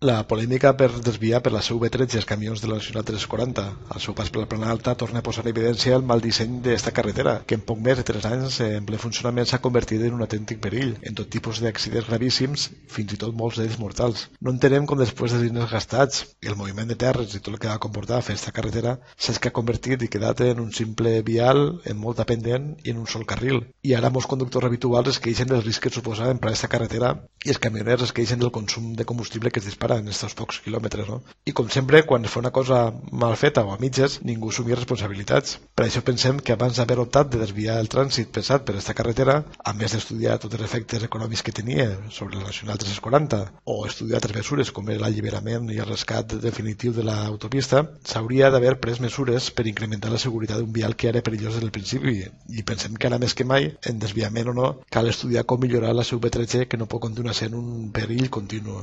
La polèmica per desviar per la CV13 els camions de la Nacional 340 al seu pas per la Plana Alta torna a posar en evidència el mal disseny d'esta carretera, que en poc més de 3 anys en ple funcionament s'ha convertit en un autèntic perill, en tot tipus d'accidents gravíssims, fins i tot molts d'ells mortals. No entenem com després de diners gastats i el moviment de terres i tot el que va comportar fer esta carretera s'ha convertit i quedat en un simple vial en molta pendent i en un sol carril. I ara molts conductors habituals es queixen dels riscs que suposa emprar esta carretera i els camioners es queixen del consum de combustible que es dispara en estos pocs quilòmetres, no? I com sempre, quan es fa una cosa mal feta o a mitges, ningú assumia responsabilitats. Per això pensem que abans d'haver optat de desviar el trànsit pesat per esta carretera, a més d'estudiar tots els efectes econòmics que tenia sobre la Nacional 340 o estudiar altres mesures com era l'alliberament i el rescat definitiu de l'autopista, s'hauria d'haver pres mesures per incrementar la seguretat d'un vial que era perillós des del principi, i pensem que ara més que mai, en desviament o no, cal estudiar com millorar la CV13, que no pot continuar sent un perill continu.